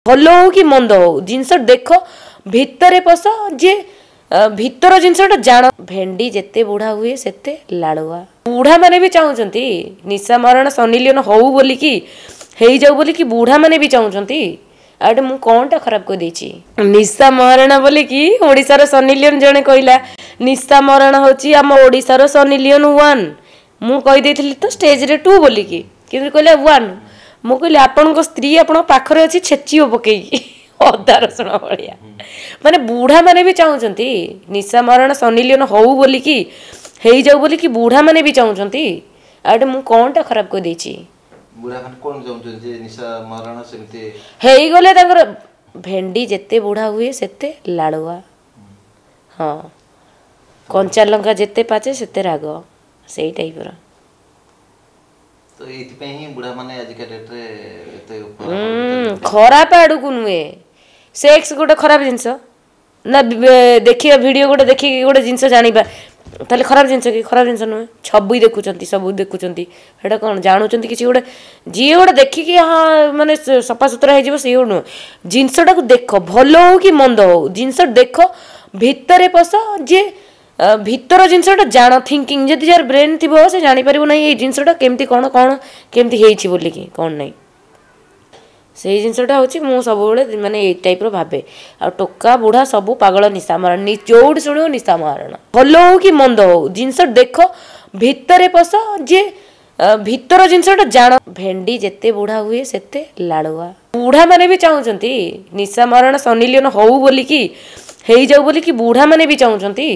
ଭଲ ହଉ କି ମନ୍ଦ ହଉ, ଜିନିଷ ଦେଖ, ଭିତରେ ପଶ, ଯିଏ ଭିତର ଜିନିଷଟା ଜାଣ। ଭେଣ୍ଡି ଯେତେ ବୁଢ଼ା ହୁଏ ସେତେ ଲାଳୁଆ। ବୁଢ଼ାମାନେ ବି ଚାହୁଁଛନ୍ତି ନିଶା ମହାରଣା ସନି ଲିଓନ ହଉ ବୋଲିକି, ହେଇଯାଉ ବୋଲିକି ବୁଢ଼ାମାନେ ବି ଚାହୁଁଛନ୍ତି। ଆଉ ଏଠି ମୁଁ କ'ଣଟା ଖରାପ କହିଦେଇଛି? ନିଶା ମହାରଣା ବୋଲିକି ଓଡ଼ିଶାର ସନି ଲିଓନ ଜଣେ କହିଲା, ନିଶା ମହାରଣା ହେଉଛି ଆମ ଓଡ଼ିଶାର ସନି ଲିଓନ 1। ମୁଁ କହିଦେଇଥିଲି ତ ଷ୍ଟେଜରେ 2 ବୋଲିକି, କିନ୍ତୁ କହିଲା 1। ମୁଁ କହିଲି ଆପଣଙ୍କ ସ୍ତ୍ରୀ ଆପଣଙ୍କ ପାଖରେ ଅଛି, ଛେଚିବ ପକେଇକି ଅଦା ରସୁଣ ଭଳିଆ। ମାନେ ବୁଢ଼ାମାନେ ବି ଚାହୁଁଛନ୍ତି ନିଶା ମହାରଣା ସନି ଲିଓନ ହଉ ବୋଲିକି, ହେଇଯାଉ ବୋଲିକି ବୁଢ଼ାମାନେ ବି ଚାହୁଁଛନ୍ତି। ଆଉ ଏଠି ମୁଁ କ'ଣଟା ଖରାପ କହିଦେଇଛି? ବୁଢ଼ାମାନେ କ'ଣ ଚାହୁଁଛନ୍ତି ଯେ ନିଶା ମହାରଣା ସେମିତି ହେଇଗଲେ ତାଙ୍କର। ଭେଣ୍ଡି ଯେତେ ବୁଢ଼ା ହୁଏ ସେତେ ଲାଳୁଆ। ହଁ, କଞ୍ଚା ଲଙ୍କା ଯେତେ ପାଚେ ସେତେ ରାଗ, ସେଇ ଟାଇପ୍ର। ତ ଏଇଥିପାଇଁ ହିଁ ବୁଢ଼ାମାନେ ଆଜିକା ଡେଟ୍ରେ ଏତେ ଖରାପ ଆଡ଼କୁ ନୁହେଁ। ସେକ୍ସ ଗୋଟେ ଖରାପ ଜିନିଷ ନା? ଦେଖିବା ଭିଡ଼ିଓ ଗୋଟେ ଦେଖିକି ଗୋଟେ ଜିନିଷ ଜାଣିବା, ତାହେଲେ ଖରାପ ଜିନିଷ କି? ଖରାପ ଜିନିଷ ନୁହେଁ। ଛବି ଦେଖୁଛନ୍ତି, ସବୁ ଦେଖୁଛନ୍ତି, ସେଇଟା କ'ଣ ଜାଣୁଛନ୍ତି କିଛି ଗୋଟେ? ଯିଏ ଗୋଟେ ଦେଖିକି ହଁ ମାନେ ସଫାସୁତୁରା ହେଇଯିବ ସିଏ ଗୋଟେ ନୁହେଁ। ଜିନିଷଟାକୁ ଦେଖ, ଭଲ ହଉ କି ମନ୍ଦ ହଉ, ଜିନିଷ ଦେଖ, ଭିତରେ ପଶ, ଯିଏ ଭିତର ଜିନିଷଟା ଜାଣ। ଥିଙ୍କିଂ ଯଦି ଯାହାର ବ୍ରେନ୍ ଥିବ ସେ ଜାଣିପାରିବ ନାହିଁ ଏଇ ଜିନିଷଟା କେମିତି କ'ଣ କ'ଣ କେମିତି ହେଇଛି ବୋଲିକି କ'ଣ ନାହିଁ। ସେଇ ଜିନିଷଟା ହେଉଛି ମୁଁ ସବୁବେଳେ ମାନେ ଏଇ ଟାଇପ୍ର ଭାବେ। ଆଉ ଟୋକା ବୁଢ଼ା ସବୁ ପାଗଳ ନିଶା ମହାରଣା, ଯୋଉଠି ଶୁଣିବ ନିଶା ମହାରଣା। ଭଲ ହଉ କି ମନ୍ଦ ହଉ, ଜିନିଷ ଦେଖ, ଭିତରେ ପଶ, ଯିଏ ଭିତର ଜିନିଷଟା ଜାଣ। ଭେଣ୍ଡି ଯେତେ ବୁଢ଼ା ହୁଏ ସେତେ ଲାଳୁଆ। ବୁଢ଼ାମାନେ ବି ଚାହୁଁଛନ୍ତି ନିଶା ମହାରଣା ସନି ଲିଓନ ହଉ ବୋଲିକି, ହେଇଯାଉ ବୋଲିକି ବୁଢ଼ାମାନେ ବି ଚାହୁଁଛନ୍ତି।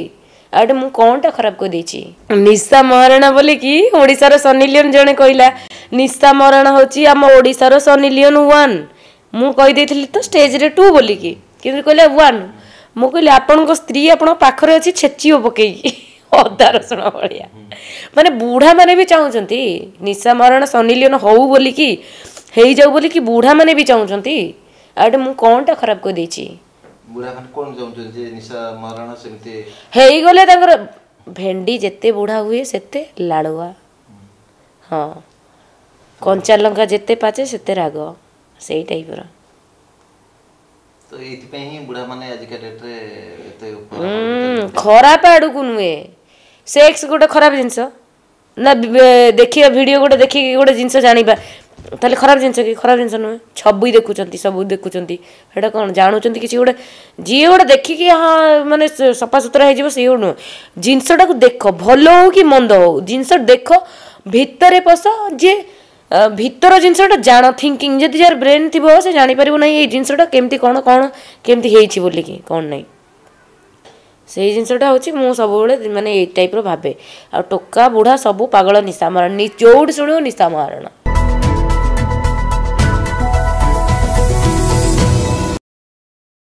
ଆଉ ଏଠି ମୁଁ କ'ଣଟା ଖରାପ କହିଦେଇଛି? ନିଶା ମହାରଣା ବୋଲିକି ଓଡ଼ିଶାର ସନି ଲିଓନ ଜଣେ କହିଲା, ନିଶା ମହାରଣା ହେଉଛି ଆମ ଓଡ଼ିଶାର ସନି ଲିଓନ 1। ମୁଁ କହିଦେଇଥିଲି ତ ଷ୍ଟେଜରେ 2 ବୋଲିକି, କିନ୍ତୁ କହିଲା 1। ମୁଁ କହିଲି ଆପଣଙ୍କ ସ୍ତ୍ରୀ ଆପଣଙ୍କ ପାଖରେ ଅଛି, ଛେଚିବ ପକେଇକି ଅଦା ରସୁଣ ଭଳିଆ। ମାନେ ବୁଢ଼ାମାନେ ବି ଚାହୁଁଛନ୍ତି ନିଶା ମହାରଣା ସନି ଲିଓନ ହଉ ବୋଲିକି, ହେଇଯାଉ ବୋଲିକି ବୁଢ଼ାମାନେ ବି ଚାହୁଁଛନ୍ତି। ଆଉ ଏଠି ମୁଁ କ'ଣଟା ଖରାପ କହିଦେଇଛି? ବୁଢ଼ାମାନେ କ'ଣ ଚାହୁଁଛନ୍ତି ଯେ ନିଶା ମହାରଣା ସେମିତି ହେଇଗଲେ ତାଙ୍କର। ଭେଣ୍ଡି ଯେତେ ବୁଢ଼ା ହୁଏ ସେତେ ଲାଳୁଆ। ହଁ, କଞ୍ଚା ଲଙ୍କା ଯେତେ ପାଚେ ସେତେ ରାଗ, ସେଇ ଟାଇପ୍ର। ତ ଏଇଥିପାଇଁ ହିଁ ବୁଢ଼ାମାନେ ଆଜିକା ଡେଟ୍ରେ ଏତେ ଖରାପ ଆଡ଼କୁ ନୁହେଁ। ସେକ୍ସ ଗୋଟେ ଖରାପ ଜିନିଷ ନା? ଦେଖିବା ଭିଡ଼ିଓ ଗୋଟେ ଦେଖିକି ଗୋଟେ ଜିନିଷ ଜାଣିବା, ତାହେଲେ ଖରାପ ଜିନିଷ କି? ଖରାପ ଜିନିଷ ନୁହେଁ। ଛବି ଦେଖୁଛନ୍ତି, ସବୁ ଦେଖୁଛନ୍ତି, ସେଇଟା କ'ଣ ଜାଣୁଛନ୍ତି କିଛି ଗୋଟେ? ଯିଏ ଗୋଟେ ଦେଖିକି ହଁ ମାନେ ସଫାସୁତୁରା ହେଇଯିବ ସିଏ ଗୋଟେ ନୁହେଁ। ଜିନିଷଟାକୁ ଦେଖ, ଭଲ ହଉ କି ମନ୍ଦ ହଉ, ଜିନିଷ ଦେଖ, ଭିତରେ ପଶ, ଯିଏ ଭିତର ଜିନିଷଟା ଜାଣ। ଥିଙ୍କିଂ ଯଦି ଯାହାର ବ୍ରେନ୍ ଥିବ ସେ ଜାଣିପାରିବ ନାହିଁ ଏଇ ଜିନିଷଟା କେମିତି କ'ଣ କ'ଣ କେମିତି ହେଇଛି ବୋଲିକି କ'ଣ ନାହିଁ। ସେଇ ଜିନିଷଟା ହେଉଛି ମୁଁ ସବୁବେଳେ ମାନେ ଏଇ ଟାଇପ୍ର ଭାବେ। ଆଉ ଟୋକା ବୁଢ଼ା ସବୁ ପାଗଳ ନିଶା ମହାରଣା, ଯୋଉଠି ଶୁଣିବ ନିଶା ମହାରଣା।